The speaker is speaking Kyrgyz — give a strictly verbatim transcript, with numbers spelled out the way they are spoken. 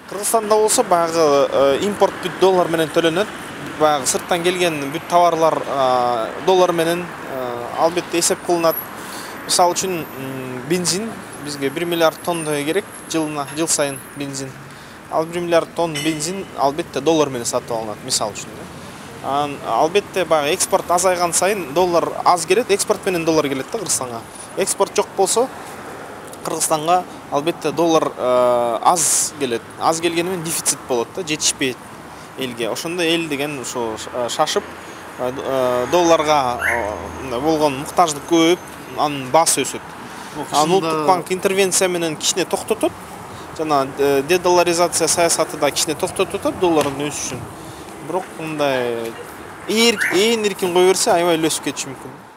Кыргызстанда болсо баягы импорт бүт доллар менен төлөнөт. Баягы сырттан келген бүт товарлар доллар менен албетте эсеп кылынат. Мисалы үчүн бензин бизге бир миллиард тонна керек жылына, жыл сайын бензин. Ал бир миллиард тонн бензин албетте доллар менен сатып алынат, мисалы үчүн. Албетте баягы экспорт азайган сайын доллар аз келет, экспорт менен доллар келет да Кыргызстанга. Экспорт жок болсо Кыргызстанга албетте доллар аз келет. Аз келгени менен дефицит болот да, жетишпейт элге. Ошондо эл деген ошо шашып долларга болгон муктаждык көбөйүп, анын баасы өсөт. Анын Улуттук банк интервенция менен кичине токтотот. Жана дедолларизация саясаты да кичине токтотот доллардын өсүшүн. Бирок мындай ээн эркин кое берсе, аябай эле өсүп кетиши мүмкүн.